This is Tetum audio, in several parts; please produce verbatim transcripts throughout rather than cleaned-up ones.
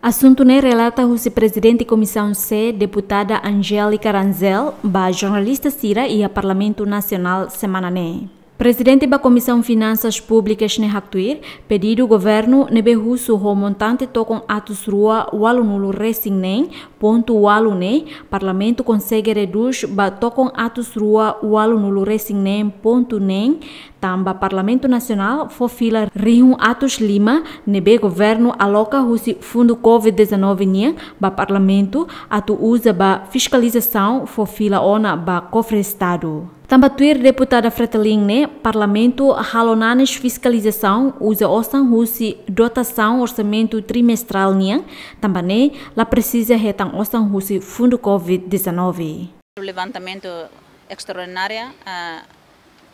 Asuntu ne'e relata husi Prezidente Komisaun C, Deputada Angélica Rangel, ba jornalista sira iha Parlamentu Nasionál semana ne'e. Prezidente ba Komisaun Finansas Públikas ne'e haktuir, pedidu governu ne'ebé husu ho montante tokon atus rua ualunulu resin neen pontu ualu ne'e, Parlamentu konsege redús ba tokon atus rua ualunulu resin neen pontu neen, tanba Parlamentu Nasionál fó fila rihun atus lima ne'ebé governu aloka husi fundu covid dezanove nian ba Parlamentu atu uza ba fiskalizasaun fó fila ona ba kofre Estadu. Tanba tuir Deputada Fretilin ne'e, Parlamentu halo nanis fiskalizasaun uza osan husi dotasaun orsamentu trimestrál nian, tanba ne'e la presiza hetan osan husi fundu covid dezanove. Levantamentu estraordinária, ah,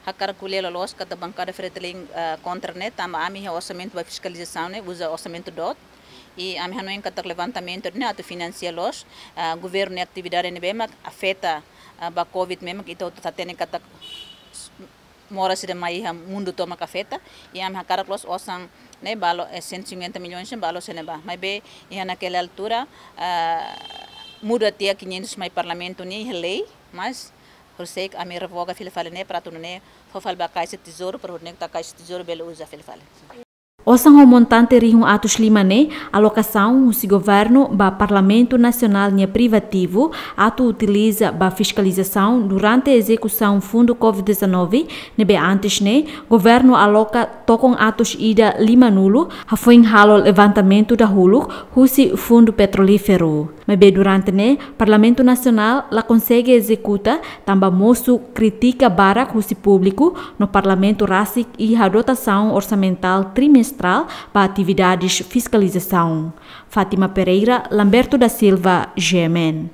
hakarak ko'alia loloos katak bankada Fretilin, ah, kontra ne'e, tanba ami iha orsamentu ba fiskalizasaun ne'e uza orsamentu dot. I ami hanoin katak levantamentu ne'e atu finansia loos, ah, governu nia atividade ne'ebé mak afeta, ah, ba covid ne'e mak ita hotu hatene katak moras sira mai iha mundu tomak afeta, i ami hakarak loos osan ne'e ba loos, eh, cento e cinquenta milhões ne'e ba loos iha ne'ebá. Maibé iha naquela altura, ah, muda tiha quinhentos mai Parlamentu nia iha lei, mas horiseik ami revoga fila fali ne'e para atu nune'e fó fali ba Kaixa Tezouru, para nune'e katak Kaixa Tezouru bele uza fila fali. Osan ho montante rihun atus lima ne'e alokasaun husi governu ba Parlamentu Nasionál nia privativu atu utiliza ba fiskalizasaun durante ezekusaun fundu covid dezanove, ne'ebé antes ne'e governu aloka tokon atus ida limanulu hafoin halo levantamentu dahuluk husi fundu petrolíferu. Maibé durante ne'e, Parlamentu Nasionál la konsege ezekuta, tanba mosu krítika barak husi públiku, no Parlamentu rasik iha dotasaun orsamentál trimestrál ba atividades fiskalizasaun. Fátima Pereira, Lamberto da Silva, G M N.